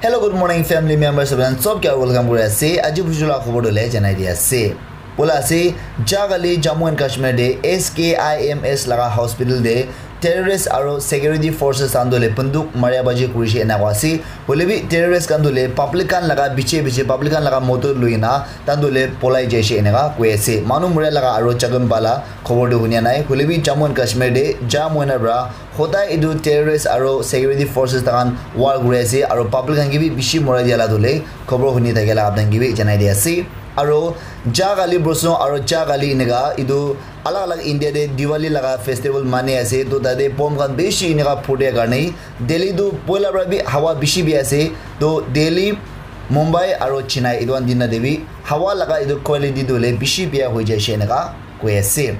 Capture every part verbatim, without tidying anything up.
Hello, good morning, family members. Sob kya welcome kuri ase. Aji buju la khobor dole janai di ase. Bola ase, jagale Jammu and Kashmir de S K I M S laga hospital de terrorist aro security forces khan dole banduk maria baji kuri she ena kwa ase. Hoile bi terrorist khan dole public khan laga biche biche, public khan laga motor lui na tan dole polai jai she ena koi ase. Manu muria laga aro jagan bala khobor tu hunia nai. Hoile bi Jammu and Kashmir de jam hoina pra hodai etu terrorist aro security forces takan war kuri ase aro public khan ke bi bishi morai dia la dole khobor huni thakela apni khan ke bi janai di ase. Aro jagale prosno aro jagale eneka etu alag alag India de Diwali laga festival mani ase, to tate bomb khan bishi eneka phutia karne Delhi tu poila pra bi hawa bishi bi ase. To Delhi, Mumbai aro Chennai etu khan dinna de bi hawa laga etu quality tu le bishi bia hoi jai she eneka koi ase.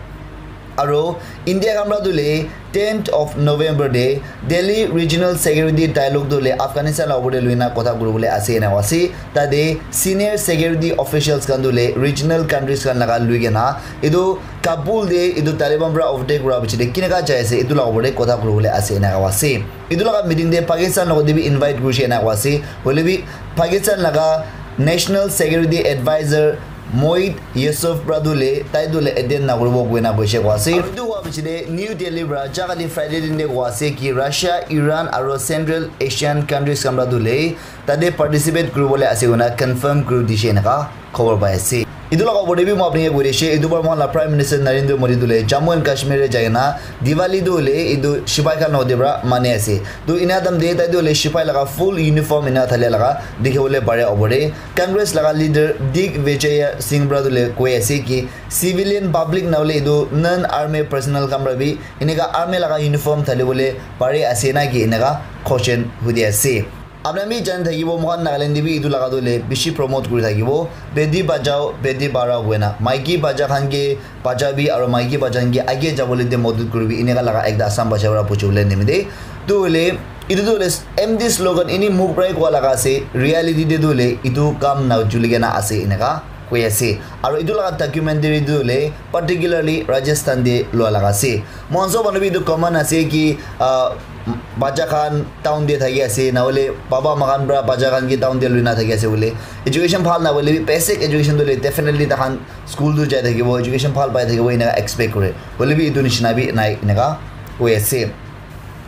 Aro India khan pra tu le tenth of November de Delhi Regional Security Dialogue tu le Afghanistan la opor de lui na kotha kuri bole ase ena ase. Tate senior security officials khan tu le regional countries khan laga lui kena etu Kabul de etu Taliban pra overtake kura piche de kineka jai ase etu la opor de kotha kuri bole ase ena ase. Etu laga meeting de Pakistan logot de bi invite kuri she ena ase. Hoile bi Pakistan laga National Security Advisor Mohid Yusuf pra tu le tai tu le attend na kuribo koina koise ko ase. Aru etu hua piche de New Delhi pra jagale Friday din de ko ase ki Russia, Iran aro Central Asian countries khan pra tu le tate participate kuri bole ase koina confirm kuri dishe eneka khobor pai ase. Etu laga opor de bi moi apni ke koi dishe, etu bar moi la Prime Minister Narendra Modi tu le Jammu and Kashmir de jai na Diwali tu le etu sipai khan logot de pra mani ase. To ena time de tai tu le sipai laga full uniform ena thale laga dikhi bole pare opor de. Congress laga leader Digvijay Singh pra tu le koi ase ki civilian public na hole etu non army personnel khan pra bi eneka army laga uniform thali bole pare ase na ki eneka question hudi ase. Apni khan bi jani thakibo, moikhan Nagaland de bi etu laga tu le bishi promote kuri thakibo, beti bachao, beti padhao koina. Maiki bacha khan ke bacha bi aro maiki bacha khan ke age jabole de modot kuribi, eneka laga ekta Assam bacha para puchibole nimite. Tu hoile, etu tu hoile empty slogan, eni mukh para koa laga ase, reality de tu hoile etu kam na chuli kena ase eneka koi ase. Aro etu laga documentary tu hoile particularly Rajasthan de lua laga ase. Moikhan sob manu bi etu common ase ki, ah, bacha khan town de thaki ase, na hoile baba ma khan para bacha khan ki town de lui na thaki ase bole. Education bhal na hoile bi basic education tu hoile definitely takhan school tu jai thakibo, education bhal pai thakibo, eneka expect kore. Hoile bi etu nishina bi nai, eneka koi ase.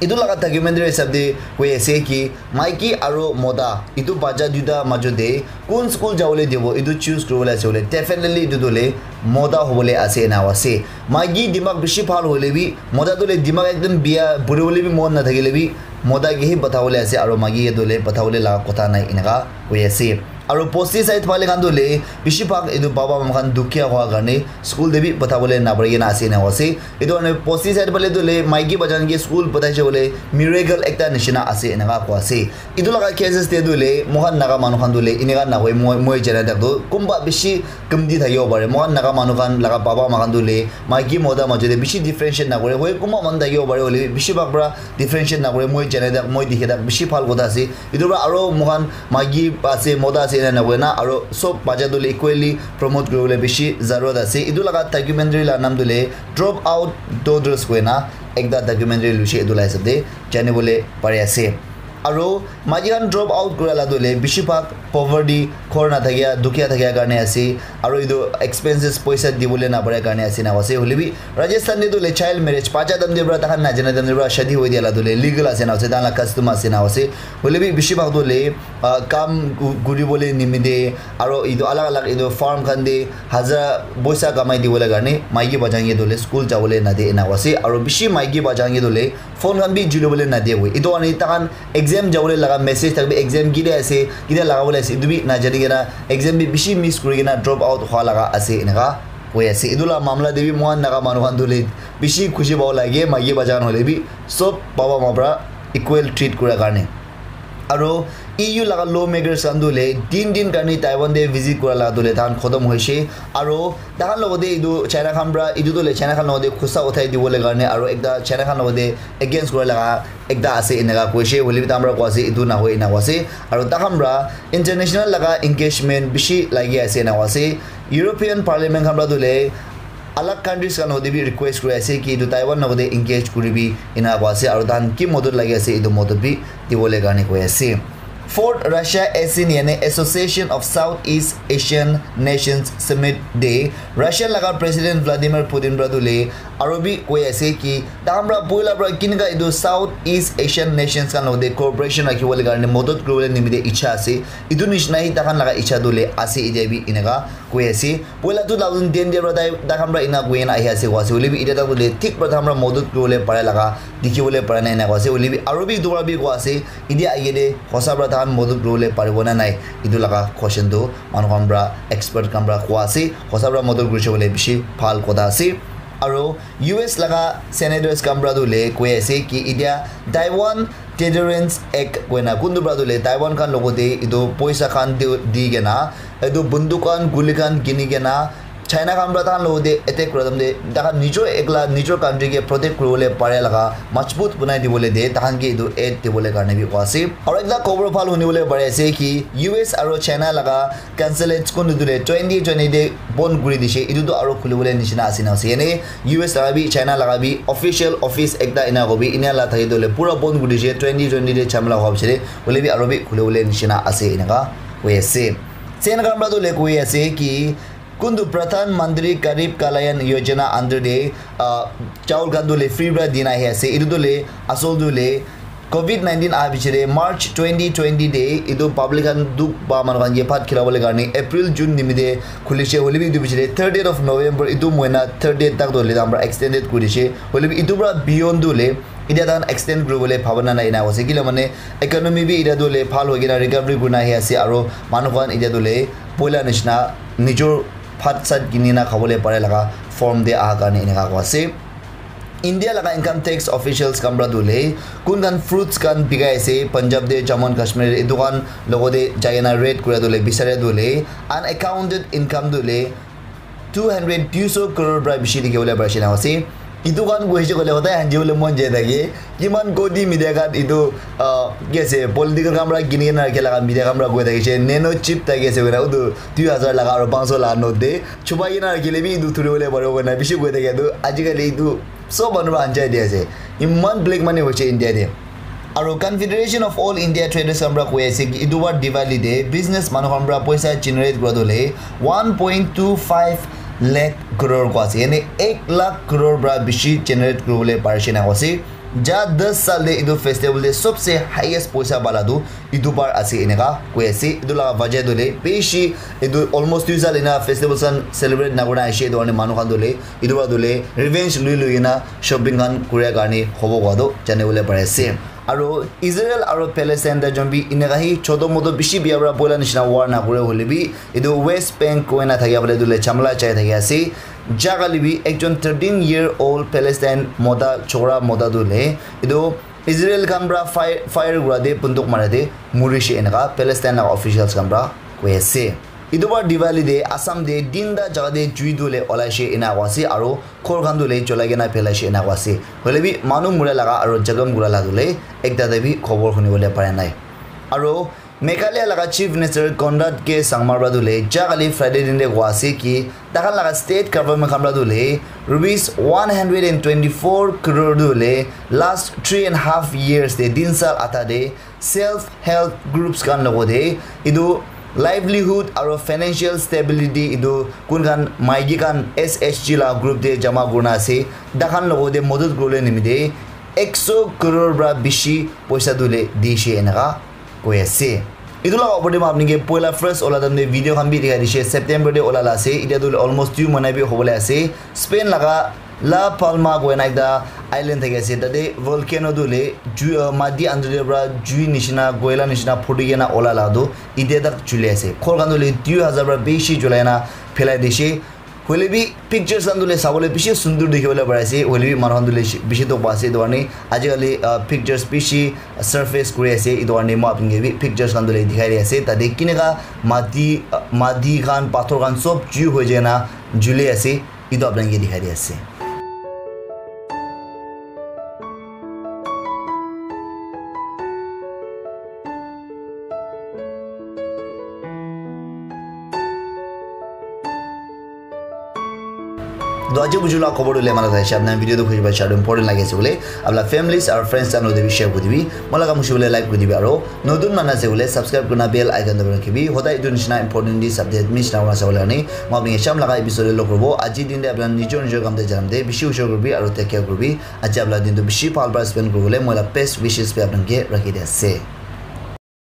Etu laga documentary hisab de koi ase ki maiki aro mota etu bacha duita majo de kun school jabole dibo, etu choose kuribole ase hoile definitely etu tu hoile mota hobole ase ena ase. Maiki dimag bishi bhal hoile bi, mota tu hoile dimag ekdum bia, puribole bi mon nathakile bi, mota ke hi pathabole ase aro maiki ke tu hoile pathabole laga kotha nai, eneka koi ase. Aro bosti side phale khan tu hoile bishi bhag etu baba ma khan dukhia hua karne school de bi pathabole napari kena ase ena ase. Etu karne bosti side phale tu hoile maiki bacha khan ke school pathaise hoile miracle ekta nishina ase eneka koi ase. Etu laga cases te tu hoile moikhan Naga manu khan tu hoile eneka nahoi, moi, moi jana tak tu kunba bishi kamti thakibo pare. Moikhan Naga manu khan laga baba ma khan tu hoile maiki mota majo de bishi differentiate nakore. Hoi kunba manu thakibo pare hoile bishi bhag para differentiate nakore. Moi jana tak, moi dikha tak bishi bhal kotha ase. Etu para aro moikhan maiki ase, mota ase ena nahoina aro sob bacha tu hoile equally promote kuribole bishi zarurat ase. Etu laga documentary la naam tu hoile Drop Out Daughters koina ekta documentary luishe, etu la hisab de janibole pari ase. Aro maiki khan drop out kura la tu hoile bishi bhag poverty, ghor nathakia, dukhia thakia karne ase. Aro etu expenses poisa dibole napare karne ase na ase. Hoile bi Rajasthan de tu hoile child marriage, bacha time de para takhan najana time de para shadi hoi dia la tu hoile legal ase na ase, tahan la custom ase na ase. Hoile bi bishi bhag tu hoile, ah, kam ku-, kuribole nimite aro etu alag alag etu farm khan de hazara poisa kamai dibole karne maiki bacha khan ke tu hoile school jabole nade ena ase. Aro bishi maiki bacha khan ke tu hoile phone khan bi julibole nadiya koi. Etu karne takhan exam jabole laga message thakbi, exam ketia ase, ketia lagabole ase, etu bi najani kena exam bi bishi miss kuri kena drop out hua laga ase eneka koi ase. Etu la mamla de bi moikhan Naga manu khan tu hoile bishi khushi pabo lage, maiki bacha khan hoile bi sob baba ma para equal treat kura karne. Aro E U laga lawmakers khan tu hoile tin din karne Taiwan de visit kura laga tu hoile takhan khotom hoishe. Aro takhan logot de etu China khan para, etu tu hoile China khan logot de khusa uthai dibole karne aro ekta China khan logot de against kura laga ekta ase eneka koishe, hoile bi takhan para koi ase etu nahoi ena koi ase. Aro takhan para international laga engagement bishi lagi ase ena koi ase. European Parliament khan para tu hoile alag countries khan logot de bi request kuri ase ki etu Taiwan logot de engage kuribi ena koi ase, aro takhan ki modot lagi ase etu modot bi dibole karne koi ase. Fourth Russia ASEAN yani Association of Southeast Asian Nations Summit te Russia laga President Vladimir Putin para tu le aro bi koi ase ki takhan para poila para kinka etu Southeast Asian nations khan logote cooperation rakhiwole karne modot kuriwole nimite icha ase. Etu nishina hi takhan laga icha tu le ase etia bi eneka koi ase. Poila two thousand ten te para tai takhan para ena koi na ahi ase koi ase. Hoile bi etia tak tu le thik para takhan para modot kuriwole pare laga dikhiwole pare na ena koi ase. Hoile bi aro bi etu para bi koi ase. India age de hosa para tahan modot kuribole paribo na nai, etu laga question tu manu khan para expert khan para kua ase. Hosa para modot kurise bole bishi bhal kotha ase. Aro U S laga senators khan para tu le koi ase ki India Taiwan Deterrence Act koina kuntu para tu le Taiwan khan logote etu poisa khan di di kena etu bunduk khan guli khan kini kena China khan para tahan logote attack kura time te tahan nijor ekla nijor country ke protect kuribole pare laga majbut banai dibole de tahan ke etu aid dibole karne bi koi ase. Aro ekta khobor bhal hunibole pare ase ki U S aro China laga consulates kun tu le twenty twenty te bon kuri dishe. Etu tu aro khulibole nishina ase na ase. Yane U S laga bi China laga bi official office ekta ena hobi ena la thaki tu le pura bon kuri dishe twenty twenty te chamla hob sire. Hoile bi aro bi khulibole nishina ase eneka koi ase. Sen khan para tu le koi ase ki kuntu Pradhan Mantri Garib Kalyan Yojana under de uh, chaul khan tu le free para dina ahi ase. Etu tu le asol tu le covid nineteen aha bichire March twenty twenty de etu public khan duk ba manu khan ke bhat khilabole karne April June nimite khulise. Hoile bi etu bichire thirtieth of November etu moina thirtieth tak tu le amra extended kurise. Hoile bi etu para beyond tu le etia tahan extend kuribole bhabana nai na ase kila mane economy bi etia tu le bhal hoi kena recovery kurina ahi ase aro manu khan etia tu le poila nishina nijor bhat sat kini na khabole pare laga form de aha karne eneka koi ase. India laga income tax officials khan para tu le kun khan fruits khan bikai ase Punjab de Jammu and Kashmir etu khan logote jai kena raid kura tu le bisare tu le unaccounted income tu le two hundred duiso crore para bishi dikhi bole pari ase na ase. Etu khan koi ase koile hodai hanji bole mon jai thake kiman koti media khan etu ah, ki ase political khan para kini kena rakhi laga media khan para koi thakishe nano chip thaki ase koina utu dui hazar laga aro panch so laga note de chupai kena rakhile bi etu thuri bole paribo koina bishi koi thake tu ajikali etu sob manu para anjai di ase. Iman black money hoise India de. Aro Confederation of All India Traders khan para koi ase ki etu bar Diwali de business manu khan para poisa generate kura tu le one point two five lakh crore koi ase. Yane ek lakh crore para bishi generate kuribole parise na koi ase. Ja das sal de etu festival de sobse highest poisa bala tu etu bar ase eneka koi ase. Etu laga wajah tu le bishi etu almost dui sal ena festival khan celebrate na kurina aise etu karne manu khan tu le etu para tu le revenge lui lui kena shopping khan kuria karne hobo koi tu jani bole pari ase. Aro Israel aro Palestine ta jon bi eneka hi choto moto bishi biya para boila nishina war na kure hoile bi etu West Bank koina thakia bole etu le chamla chai thakia ase. Jaga le bi ekjon thirteen year old Palestine mota chokra mota tu le etu Israel khan para fire, fire kura te bunduk mara te murishe eneka Palestine laga officials khan para koi ase. Etu bar Diwali de Assam de tinta jaga de jui tu le olaishe ena koi ase aro ghor khan tu le cholai kena phelaishe ena koi ase. Hoile bi manu mura laga aro jakham kura laga tu le ekta te bi khobor huni bole pare nai. Aro Meghalaya laga Chief Minister Conrad K Sangma para tu le ja kali Friday din de koi ase ki takhan laga state government khan para tu le rupees one hundred and twenty-four crore tu le last three and half years de tin sal atha de self help groups khan logote etu livelihood aro financial stability etu kun khan maiki khan S H G la group de jama kurina ase takhan logote modot kuribole nimite ekso crore para bishi poisa tu le dishe eneka koi ase. Etu laga opor te moi apni ke poila first ola time te video khan bi dikhai dishe September te ola la ase etia tu almost two mahina bi hobole ase. Spain laga La Palma koina ekta island thaki ase tate volcano tu hoile jui uh, mati under te para jui nishina koila nishina phuti kena ola la tu etia tak juli ase ghor khan tu hoile dui hazar para bishi julai na phelai dishe hoile bi pictures khan tu hoile sabole bishi sundur dikhi bole pari ase hoile bi manu khan tu hoile bishi dukh pa ase etu karne aji kali uh, pictures bishi surface kuri ase etu karne moi apni ke bi pictures khan tu hoile dikhai di ase tate kineka mati uh, mati khan pathor khan sob jui hoi jai na juli ase. Etu apni khan ke dikhai di ase. To aji buju la khobor tu le mala thaise, apna video tu khushi pai share important lagi ase bole, apna families aru friends channel te bi share kuri dibi, mola kam khushi bole like kuri dibi, aru notun mana ase bole subscribe kurna bell icon dabai rakhibi, hodai etu nishina important news update miss na kurna sabole karne. Moi apni sham laga episode te log koribo. Aji din te apna nijor nijor kam te janam te bishi ushor kuribi aru take care kuribi. Aji apna din tu bishi bhal para spend kuribole moi la best wishes bi apna ke rakhi di ase.